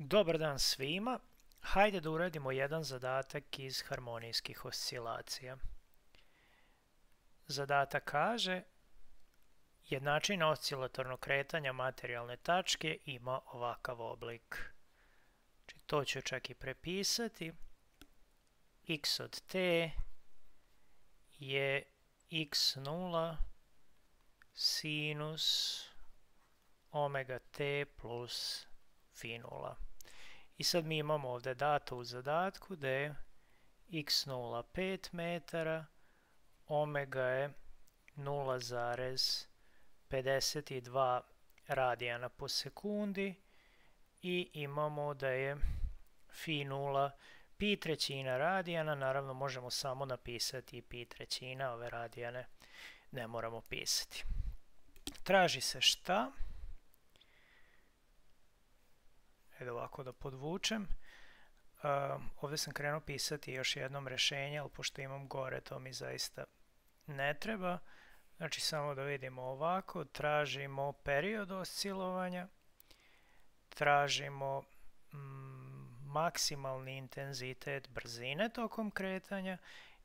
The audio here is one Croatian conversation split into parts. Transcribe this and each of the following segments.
Dobar dan svima. Hajde da uradimo jedan zadatak iz harmonijskih oscilacija. Zadatak kaže: jednačina oscilatornog kretanja materijalne tačke ima ovakav oblik. Znači, to ću čak i prepisati. X od t je x0 sinus omega t plus phi 0. I sad mi imamo ovdje dato u zadatku da je x0 5 metara, omega je 0,52 radijana po sekundi i imamo da je phi 0 pi trećina radijana. Naravno možemo samo napisati i pi trećina, ove radijane ne moramo pisati. Traži se šta? Evo ovako da podvučem. Ovdje sam krenuo pisati još jednom rješenje, ali pošto imam gore, to mi zaista ne treba. Znači samo da vidimo ovako, tražimo period oscilovanja, tražimo maksimalni intenzitet brzine tokom kretanja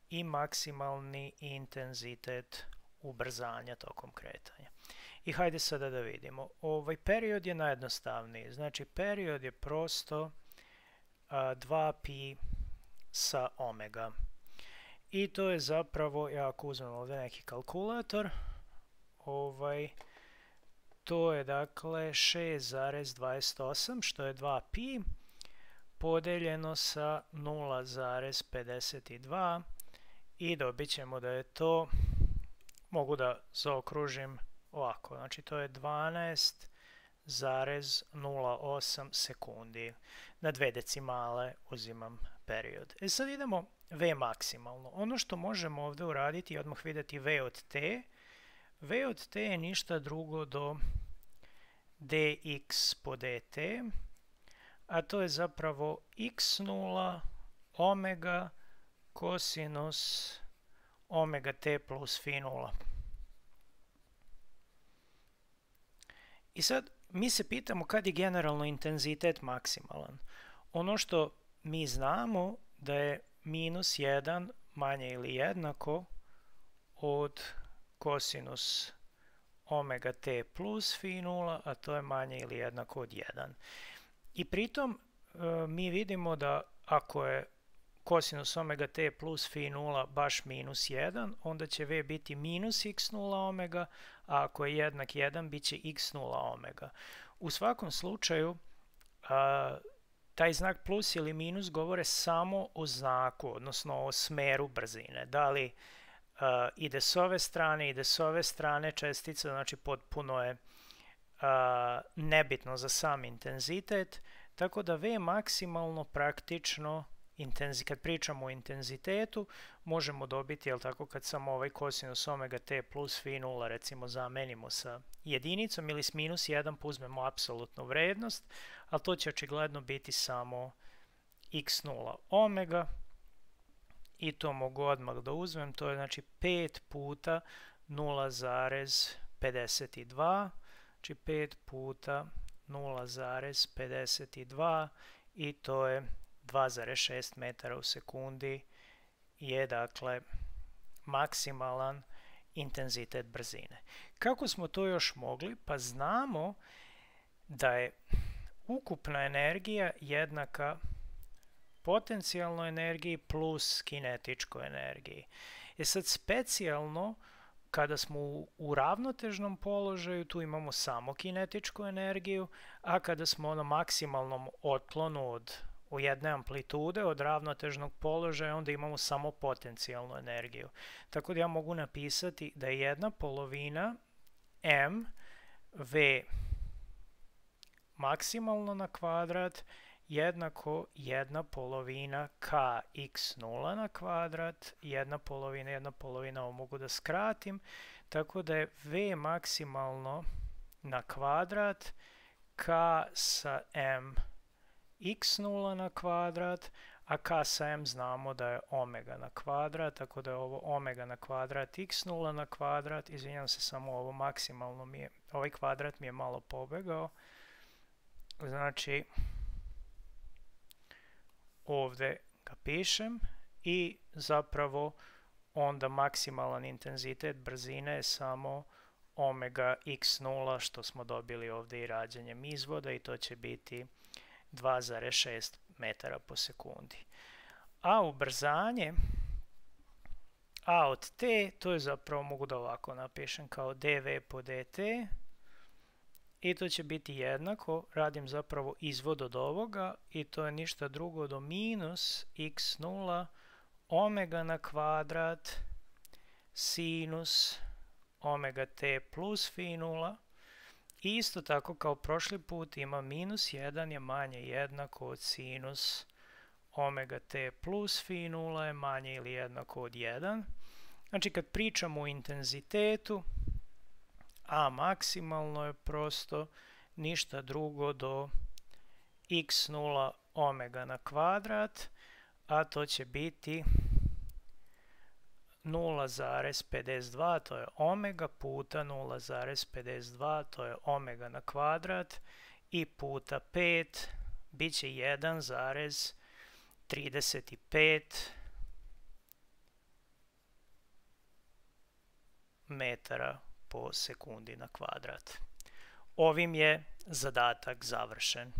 i maksimalni intenzitet ubrzanja tokom kretanja. I hajde sada da vidimo. Ovaj period je najjednostavniji. Znači period je prosto 2pi sa omega. I to je zapravo, ja ako uzmem ovdje neki kalkulator, to je dakle 6,28 što je 2pi podeljeno sa 0,52 i dobit ćemo da je to, mogu da zaokružim ovako, znači to je 12,08 sekundi. Na 2 decimale uzimam period. Sad idemo V maksimalno. Ono što možemo ovdje uraditi je odmah vidjeti V od T. V od T je ništa drugo do dx po dt, a to je zapravo x0 omega kosinus omega t plus phi 0. I sad mi se pitamo kad je generalno intenzitet maksimalan. Ono što mi znamo da je minus 1 manje ili jednako od kosinus omega t plus phi 0, a to je manje ili jednako od 1. I pritom mi vidimo da ako je kosinus omega t plus phi 0 baš minus 1, onda će v biti minus x0 omega, a ako je jednak 1, bit će x0 omega. U svakom slučaju, taj znak plus ili minus govore samo o znaku, odnosno o smeru brzine. Da li ide s ove strane, ide s ove strane čestica, znači potpuno je nebitno za sam intenzitet, tako da V maksimalno praktično, kad pričamo o intenzitetu, možemo dobiti, jel tako, kad samo ovaj kosinus omega t plus phi 0 recimo zamenimo sa jedinicom ili s minus 1 uzmemo apsolutnu vrednost, ali to će očigledno biti samo x0 omega i to mogu odmah da uzmem, to je znači 5 puta 0,52, znači 5 puta 0,52 i to je 2,6 metara u sekundi je dakle maksimalan intenzitet brzine. Kako smo to još mogli? Pa znamo da je ukupna energija jednaka potencijalnoj energiji plus kinetičkoj energiji. Sad specijalno kada smo u ravnotežnom položaju, tu imamo samo kinetičku energiju, a kada smo na maksimalnom otklonu u jedne amplitude od ravnotežnog položaja, onda imamo samo potencijalnu energiju. Tako da ja mogu napisati da je jedna polovina m v maksimalno na kvadrat jednako jedna polovina k x0 na kvadrat, jedna polovina, ovo mogu da skratim, tako da je v maksimalno na kvadrat k sa m x0 na kvadrat, a k sa m znamo da je omega na kvadrat, tako da je ovo omega na kvadrat x0 na kvadrat, izvinjam se, samo ovo maksimalno ovaj kvadrat mi je malo pobegao, znači ovdje ga pišem i zapravo onda maksimalan intenzitet brzine je samo omega x0 što smo dobili ovdje i rađenjem izvoda i to će biti 2,6 metara po sekundi. A ubrzanje A od t, to je zapravo, mogu da ovako napišem kao dv po dt i to će biti jednako, radim zapravo izvod od ovoga i to je ništa drugo do minus x0 omega na kvadrat sinus omega t plus phi 0. I isto tako kao prošli put ima minus 1 je manje jednako od sinus omega t plus phi 0 je manje ili jednako od 1. Znači kad pričamo o intenzitetu, a maksimalno je prosto ništa drugo do x0 omega na kvadrat, a to će biti 0,52, to je omega, puta 0,52, to je omega na kvadrat, i puta 5, bit će 1,35 metara po sekundi na kvadrat. Ovim je zadatak završen.